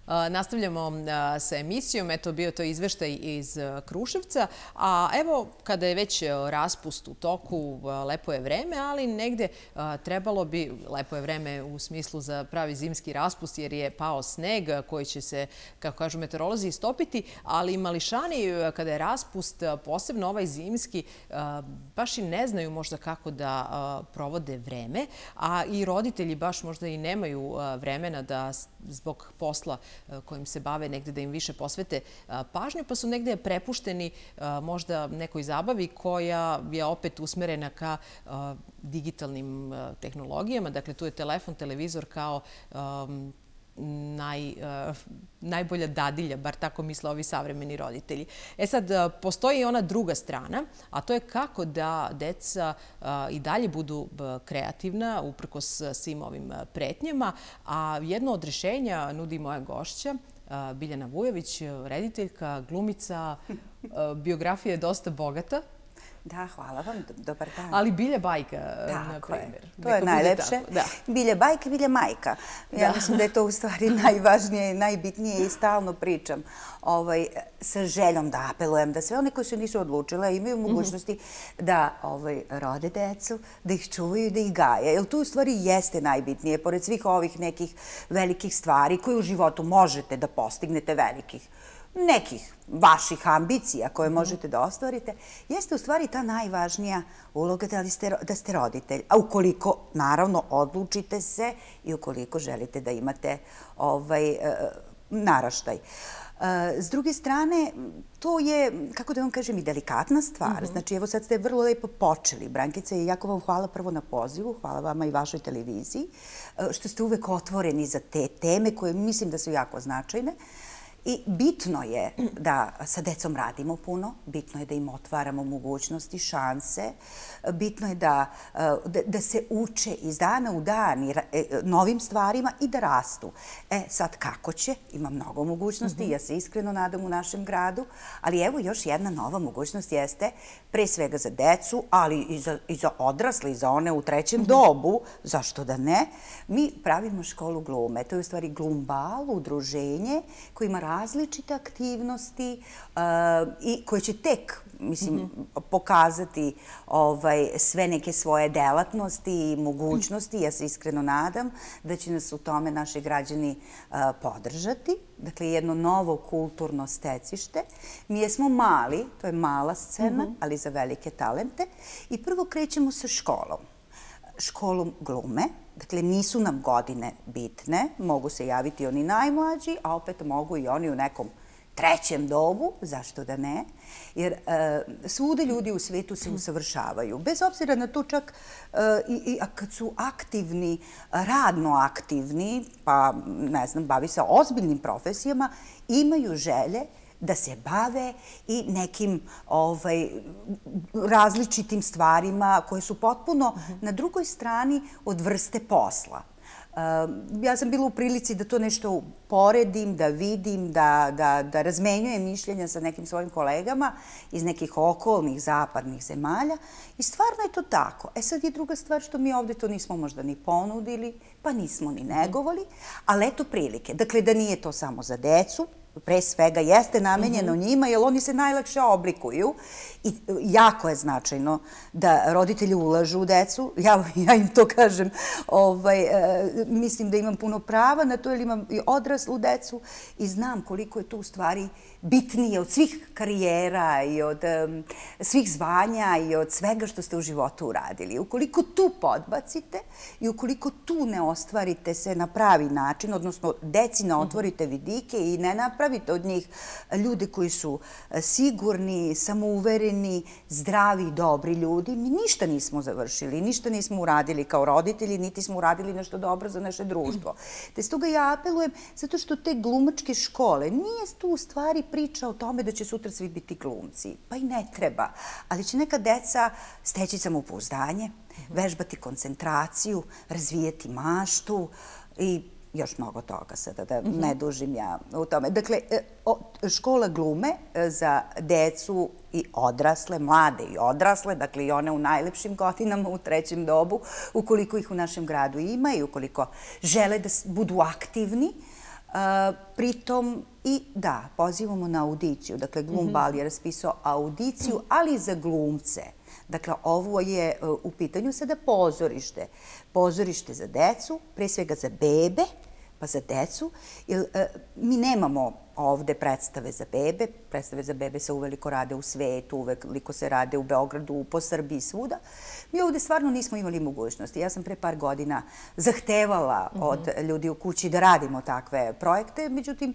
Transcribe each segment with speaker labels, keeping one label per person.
Speaker 1: Nastavljamo sa emisijom. Eto, bio to izveštaj iz Kruševca. A evo, kada je već raspust u toku, lepo je vreme, ali negde trebalo bi, lepo je vreme u smislu za pravi zimski raspust, jer je pao sneg koji će se, kako kažu meteorolozi, istopiti, ali mališani, kada je raspust, posebno ovaj zimski, baš i ne znaju možda kako da provode vreme, a i roditelji baš možda i nemaju vremena da zbog posla kojim se bave negde da im više posvete pažnju, pa su negde prepušteni možda nekoj zabavi koja je opet usmerena ka digitalnim tehnologijama. Dakle, tu je telefon, televizor kao najbolja dadilja, bar tako misle ovi savremeni roditelji. E sad, postoji i ona druga strana, a to je kako da deca i dalje budu kreativna uprkos svim ovim pretnjama. A jedno od rješenja nudi moja gošća, Biljana Vujović, rediteljka, glumica. Biografija je dosta bogata.
Speaker 2: Da, hvala vam, dobar dan.
Speaker 1: Ali Bilja bajka, na primjer.
Speaker 2: To je najlepše. Bilja bajka, Bilja majka. Ja mislim da je to u stvari najvažnije i najbitnije i stalno pričam sa željom da apelujem da sve one koji se nisu odlučile imaju mogućnosti da rode decu, da ih čuvaju i da ih gaje. Jer to u stvari jeste najbitnije, pored svih ovih nekih velikih stvari koje u životu možete da postignete velikih, nekih vaših ambicija koje možete da ostvarite, jeste u stvari ta najvažnija uloga da ste roditelj. A ukoliko, naravno, odlučite se i ukoliko želite da imate naraštaj. S druge strane, to je, kako da vam kažem, i delikatna stvar. Znači, evo sad ste vrlo lepo počeli, Brankice, i jako vam hvala prvo na pozivu, hvala vama i vašoj televiziji, što ste uvek otvoreni za te teme koje mislim da su jako značajne. I bitno je da sa decom radimo puno, bitno je da im otvaramo mogućnosti, šanse, bitno je da se uče iz dana u dan novim stvarima i da rastu. Sad kako će? Ima mnogo mogućnosti, ja se iskreno nadam u našem gradu, ali evo još jedna nova mogućnost jeste, pre svega za decu, ali i za odrasle, i za one u trećem dobu, zašto da ne, mi pravimo školu glume. To je u stvari Glumbal, udruženje koje ima različite aktivnosti i koje će tek, mislim, pokazati sve neke svoje delatnosti i mogućnosti. Ja se iskreno nadam da će nas u tome naši građani podržati. Dakle, jedno novo kulturno stecište. Mi jesmo mali, to je mala scena, ali za velike talente. I prvo krećemo sa školom. Školom glume. Dakle, nisu nam godine bitne, mogu se javiti oni najmlađi, a opet mogu i oni u nekom trećem dobu, zašto da ne, jer svuda ljudi u svijetu se usavršavaju. Bez obzira na to čak i kad su aktivni, radno aktivni, pa ne znam, bavi se ozbiljnim profesijama, imaju želje da se bave i nekim različitim stvarima koje su potpuno na drugoj strani od vrste posla. Ja sam bila u prilici da to nešto poredim, da vidim, da razmenjujem mišljenja sa nekim svojim kolegama iz nekih okolnih zapadnih zemalja i stvarno je to tako. Sad je druga stvar što mi ovdje to nismo možda ni ponudili, pa nismo ni negovali, ali eto prilike. Dakle, da nije to samo za decu, pre svega jeste namenjeno njima, jer oni se najlakše oblikuju i jako je značajno da roditelji ulažu u decu. Ja im to kažem, mislim da imam puno prava na to, jer imam i odraslu decu i znam koliko je to u stvari bitnije od svih karijera i od svih zvanja i od svega što ste u životu uradili. Ukoliko tu podbacite i ukoliko tu ne ostvarite se na pravi način, odnosno deci ne otvorite vidike i ne napravite od njih ljude koji su sigurni, samouvereni, zdravi, dobri ljudi, mi ništa nismo završili, ništa nismo uradili kao roditelji, niti smo uradili nešto dobro za naše društvo. Te stoga ja apelujem, zato što te glumačke škole, nije tu u stvari priča o tome da će sutra svi biti glumci. Pa i ne treba. Ali će neka deca steći samopouzdanje, vežbati koncentraciju, razvijeti maštu i još mnogo toga sada, da ne dužim ja u tome. Dakle, škola glume za decu i odrasle, mlade i odrasle, dakle i one u najlepšim godinama, u trećem dobu, ukoliko ih u našem gradu ima i ukoliko žele da budu aktivni, Pritom i da, pozivamo na audiciju. Dakle, Glum bal je raspisao audiciju, ali i za glumce. Dakle, ovo je u pitanju sada pozorište. Pozorište za decu, pre svega za bebe, pa za decu. Mi nemamo ovde predstave za bebe. Predstave za bebe se uveliko rade u svetu, uveliko se rade u Beogradu, po Srbiji, svuda. Mi ovde stvarno nismo imali mogućnosti. Ja sam pre par godina zahtevala od ljudi u kući da radimo takve projekte, međutim,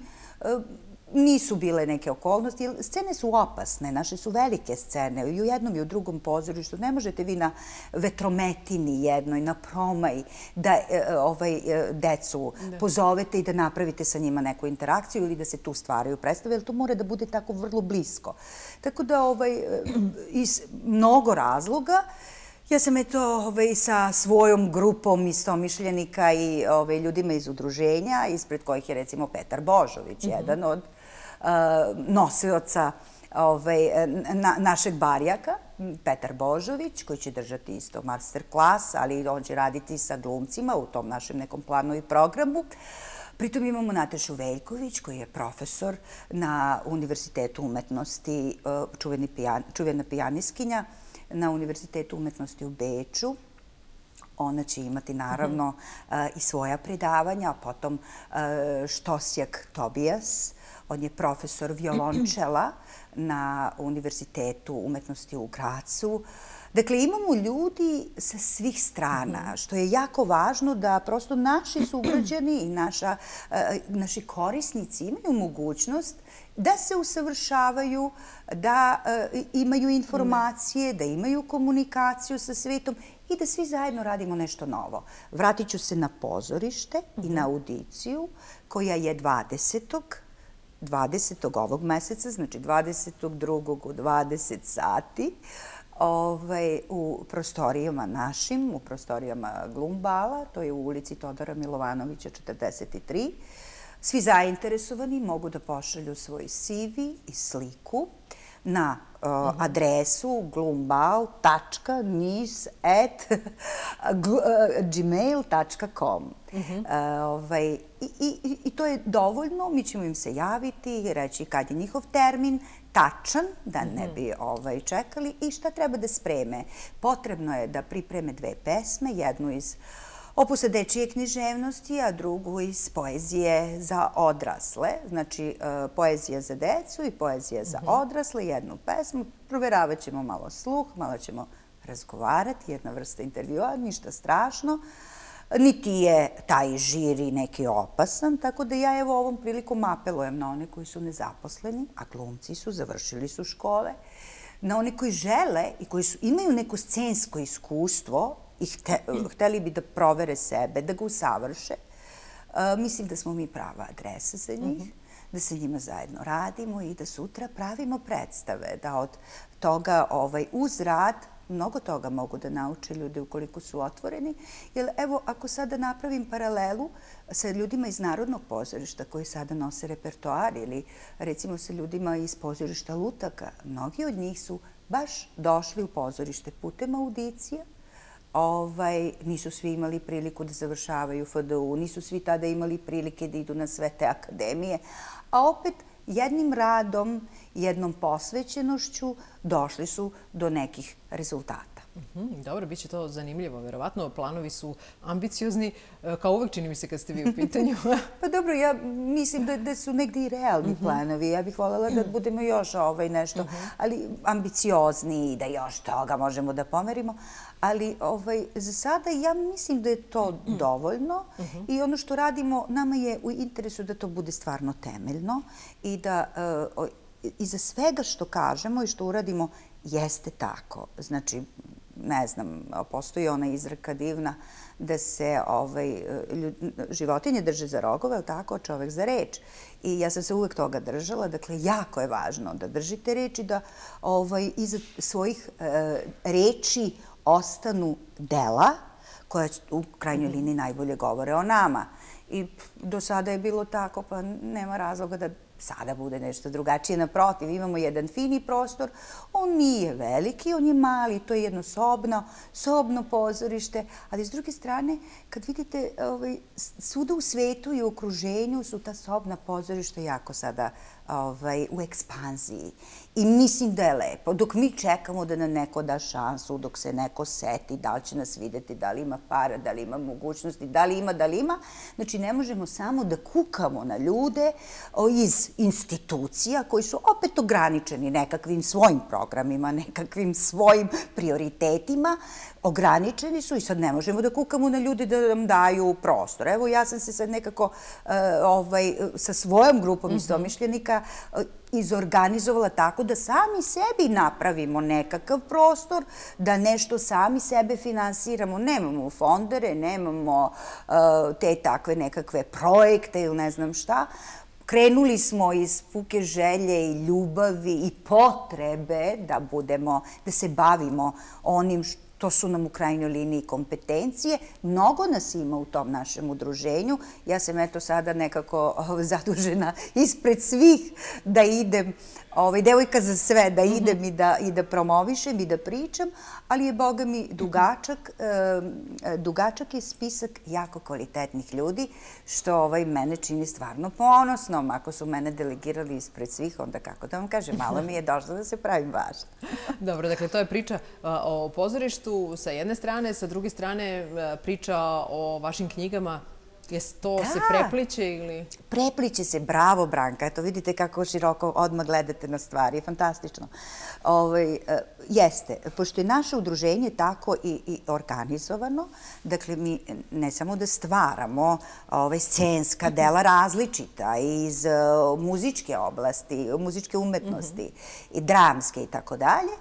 Speaker 2: nisu bile neke okolnosti. Scene su opasne, naše su velike scene. I u jednom i u drugom pozorištu ne možete vi na vetrometini jednoj, na Promaj, da decu pozovete i da napravite sa njima neku interakciju ili da se tu stvaraju predstave, jer to mora da bude tako vrlo blisko. Tako da iz mnogo razloga ja sam sa svojom grupom istomišljenika i ljudima iz udruženja, ispred kojih je recimo Petar Božović, jedan od nosioca našeg barjaka, Petar Božović, koji će držati isto master klas, ali on će raditi sa glumcima u tom našem nekom planu i programu. Pritom imamo Natašu Veljković, koji je profesor na Univerzitetu umetnosti, čuvena pijaniskinja, na Univerzitetu umetnosti u Beču. Ona će imati naravno i svoja predavanja, a potom Štosjak Tobijas. On je profesor violončela na Univerzitetu umetnosti u Gracu. Dakle, imamo ljudi sa svih strana, što je jako važno da prosto naši sugrađani i naši korisnici imaju mogućnost da se usavršavaju, da imaju informacije, da imaju komunikaciju sa svetom i da svi zajedno radimo nešto novo. Vratit ću se na pozorište i na audiciju koja je 20. ovog meseca, znači 22. u 20 sati, u prostorijama našim, u prostorijama Glum bala, to je u ulici Todora Milovanovića 43. Svi zainteresovani mogu da pošalju svoj CV i sliku na adresu glumbal.nis@gmail.com. I to je dovoljno, mi ćemo im se javiti, reći kad je njihov termin, tačan, da ne bi čekali, i šta treba da spreme. Potrebno je da pripreme 2 pesme, jednu iz opusa dečije književnosti, a drugu iz poezije za odrasle. Znači, poezija za decu i poezija za odrasle, jednu pesmu. Proveravat ćemo malo sluh, malo ćemo razgovarati, jedna vrsta intervjua, ništa strašno. Niti je taj žiri neki opasan, tako da ja evo ovom prilikom apelujem na one koji su nezaposleni, a glumci su, završili su škole, na one koji žele i koji imaju neko scensko iskustvo i hteli bi da provere sebe, da ga usavrše. Mislim da smo mi prava adresa za njih, da se njima zajedno radimo i da sutra pravimo predstave, da od toga uz rad mnogo toga mogu da nauče ljudi ukoliko su otvoreni. Jer evo, ako sada napravim paralelu sa ljudima iz Narodnog pozorišta koji sada nose repertoar ili recimo sa ljudima iz pozorišta Lutaka, mnogi od njih su baš došli u pozorište putem audicija. Nisu svi imali priliku da završavaju FDU, nisu svi tada imali prilike da idu na sve te akademije, a opet jednim radom, jednom posvećenošću došli su do nekih rezultata.
Speaker 1: Dobro, bit će to zanimljivo, verovatno. Planovi su ambiciozni, kao uvek čini mi se kad ste vi u pitanju.
Speaker 2: Pa dobro, ja mislim da su negdje i realni planovi. Ja bih voljela da budemo još nešto, ali ambiciozni i da još toga možemo da pomerimo. Ali za sada ja mislim da je to dovoljno i ono što radimo, nama je u interesu da to bude stvarno temeljno i da iza svega što kažemo i što uradimo jeste tako. Znači, ne znam, postoji ona izreka divna da se životinje drže za rogove, ali tako, čovek za reč. I ja sam se uvek toga držala. Dakle, jako je važno da držite reč i da iza svojih reči ostanu dela koja u krajnjoj liniji najbolje govore o nama. I do sada je bilo tako, pa nema razloga da sada bude nešto drugačije. Naprotiv, imamo jedan fini prostor, on nije veliki, on je mali, to je jedno sobno pozorište, ali s druge strane, kad vidite, svuda u svetu i u okruženju su ta sobna pozorišta jako sada u ekspanziji. I mislim da je lepo. Dok mi čekamo da nam neko da šansu, dok se neko seti, da li će nas videti, da li ima para, da li ima mogućnosti, da li ima. Znači, ne možemo samo da kukamo na ljude iz institucija koji su opet ograničeni nekakvim svojim programima, nekakvim svojim prioritetima. Ograničeni su i sad ne možemo da kukamo na ljude da nam daju prostor. Evo, ja sam se sad nekako sa svojom grupom istomišljenika izorganizovala tako da sami sebi napravimo nekakav prostor, da nešto sami sebe finansiramo. Nemamo fondere, nemamo te takve nekakve projekte ili ne znam šta. Krenuli smo iz puke želje i ljubavi i potrebe da se bavimo onim to su nam u krajnjoj liniji kompetencije. Mnogo nas ima u tom našem udruženju. Ja sam eto sada nekako zadužena ispred svih da idem, devojka za sve, da idem i da promovišem i da pričam, ali je, boga mi, dugačak je spisak jako kvalitetnih ljudi, što mene čini stvarno ponosnom. Ako su mene delegirali ispred svih, onda kako da vam kažem, malo mi je došlo da se pravim važna.
Speaker 1: Dobro, dakle, to je priča o pozorištu sa jedne strane, sa druge strane priča o vašim knjigama. To se prepliče ili?
Speaker 2: Prepliče se, bravo Branka. Eto, vidite kako široko odmah gledate na stvari. Fantastično. Jeste, pošto je naše udruženje tako i organizovano, dakle, mi ne samo da stvaramo scenska dela različita iz muzičke oblasti, muzičke umetnosti i dramske i tako dalje,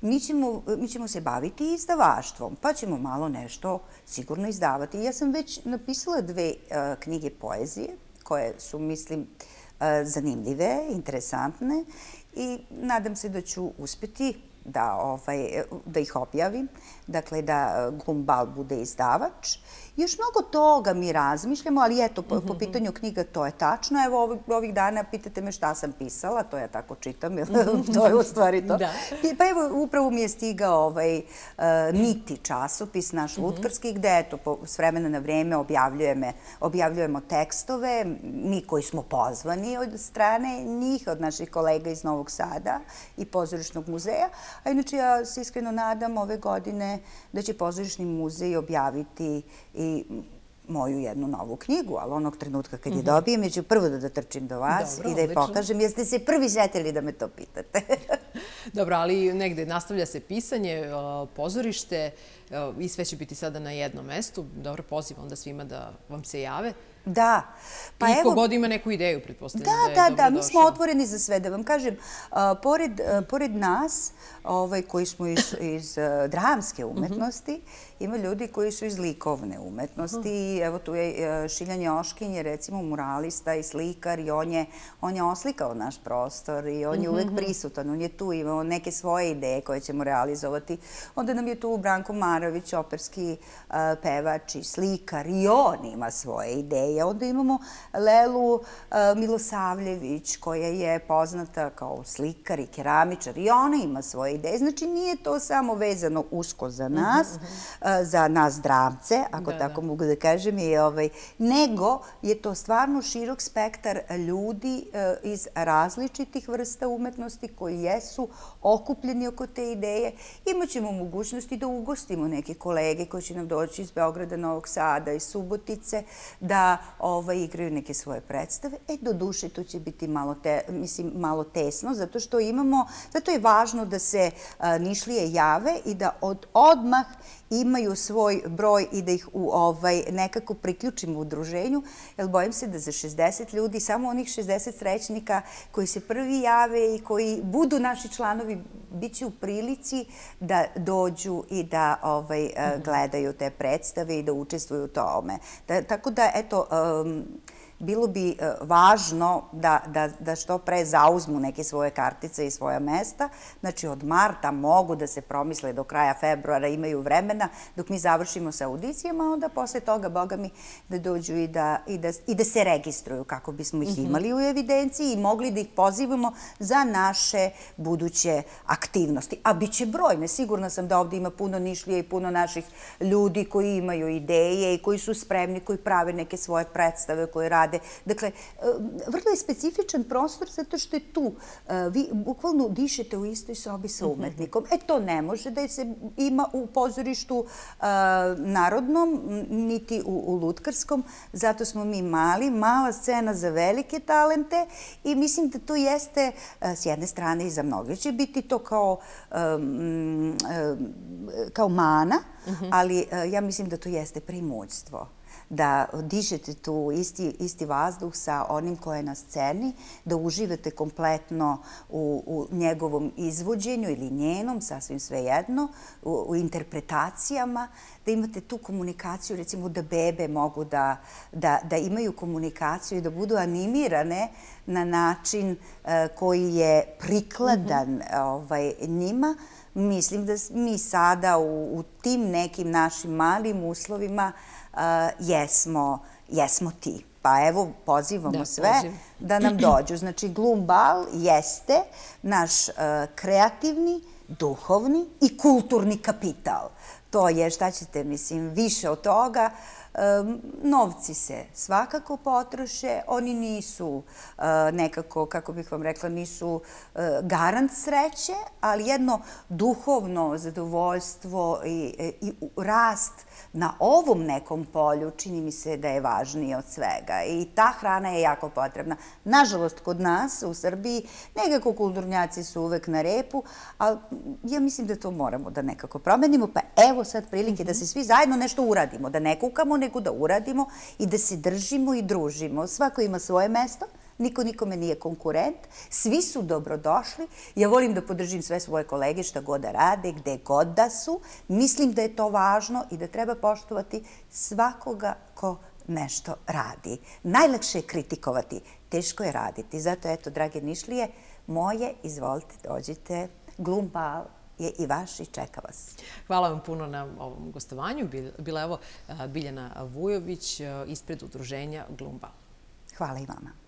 Speaker 2: mi ćemo se baviti izdavaštvom, pa ćemo malo nešto sigurno izdavati. Ja sam već napisala 2 knjige poezije, koje su, mislim, zanimljive, interesantne i nadam se da ću uspeti da ih objavim, dakle da Gumbal bude izdavač. Još mnogo toga mi razmišljamo, ali eto, po pitanju knjiga to je tačno. Evo, ovih dana pitate me šta sam pisala, to ja tako čitam, to je u stvari to. Pa evo, upravo mi je stigao Niti časopis, naš lutkarski, gde eto, s vremena na vreme objavljujemo tekstove, mi koji smo pozvani od strane njih, od naših kolega iz Novog Sada i Pozorišnog muzeja. A inače, ja se iskreno nadam ove godine da će Pozorišni muzej objaviti i moju jednu novu knjigu, ali onog trenutka kad je dobijem, ja ću prvo da trčim do vas i da je pokažem, jer ste se prvi setili da me to pitate.
Speaker 1: Dobro, ali negde nastavlja se pisanje, pozorište i sve će biti sada na jednom mestu. Dobro, pozivam onda svima da vam se jave.
Speaker 2: Da.
Speaker 1: I kogod ima neku ideju, pretpostavljam da je dobro došao.
Speaker 2: Da, mi smo otvoreni za sve. Da vam kažem, pored nas, koji smo iz dramske umetnosti, ima ljudi koji su iz likovne umetnosti. Evo tu je Šiljan Joškin, je recimo muralista i slikar i on je oslikao naš prostor i on je uvek prisutan. On je tu, imao neke svoje ideje koje ćemo realizovati. Onda nam je tu Branko Marović, operski pevač i slikar i on ima svoje ideje. Onda imamo Lelu Milosavljević, koja je poznata kao slikar i keramičar i ona ima svoje ideje. Znači, nije to samo vezano usko za nas dramce, ako tako mogu da kažem, nego je to stvarno širok spektar ljudi iz različitih vrsta umetnosti koji jesu okupljeni oko te ideje. Imaćemo mogućnosti da ugostimo neke kolege koji će nam doći iz Beograda, Novog Sada i Subotice, da igraju neke svoje predstave. Do duše, to će biti malo tesno, zato što zato je važno da se Nišlije jave i da odmah imaju svoj broj i da ih nekako priključimo u udruženju, jer bojim se da za 60 ljudi, samo onih 60 srećnika koji se prvi jave i koji budu naši članovi, bit će u prilici da dođu i da gledaju te predstave i da učestvuju u tome. Tako da, eto, bilo bi važno da što pre zauzmu neke svoje kartice i svoja mesta. Znači, od marta mogu da se promisle do kraja februara, imaju vremena dok mi završimo sa audicijama, a onda posle toga, boga mi, da dođu i da se registruju kako bismo ih imali u evidenciji i mogli da ih pozivamo za naše buduće aktivnosti. A bit će brojne. Sigurna sam da ovde ima puno Nišlija i puno naših ljudi koji imaju ideje i koji su spremni, koji prave neke svoje predstave, koji rade. Dakle, vrlo je specifičan prostor zato što je tu. Vi bukvalno dišete u istoj sobi sa umetnikom. To ne može da se ima u pozorištu narodnom, niti u lutkarskom. Zato smo mi mala scena za velike talente i mislim da to jeste, s jedne strane i za mnoge će biti to kao mana, ali ja mislim da to jeste primućstvo. Da dišete tu isti vazduh sa onim ko je na sceni, da uživate kompletno u njegovom izvođenju ili njenom, sasvim svejedno, u interpretacijama, da imate tu komunikaciju, recimo da bebe mogu da imaju komunikaciju i da budu animirane na način koji je prikladan njima. Mislim da mi sada u tim nekim našim malim uslovima jesmo ti. Pa evo, pozivamo sve da nam dođu. Znači, Glum bal jeste naš kreativni, duhovni i kulturni kapital. To je, šta ćete, mislim, više od toga. Novci se svakako potroše, oni nisu nekako, kako bih vam rekla, nisu garant sreće, ali jedno duhovno zadovoljstvo i rast na ovom nekom polju čini mi se da je važnije od svega i ta hrana je jako potrebna. Nažalost, kod nas u Srbiji nekako kulturnjaci su uvek na repu, ali ja mislim da to moramo da nekako promenimo, pa evo sad prilike da se svi zajedno nešto uradimo, da ne kukamo, nego da uradimo i da se držimo i družimo. Svako ima svoje mesto, niko nikome nije konkurent, svi su dobrodošli. Ja volim da podržim sve svoje kolege šta god da rade, gde god da su. Mislim da je to važno i da treba poštovati svakoga ko nešto radi. Najlakše je kritikovati, teško je raditi. Zato, eto, drage Nišlije, moje, izvolite, dođite. Glum bal je i vaš i čeka vas.
Speaker 1: Hvala vam puno na ovom gostovanju. Bila je ovo Biljana Vujović ispred udruženja Glum bal.
Speaker 2: Hvala i vama.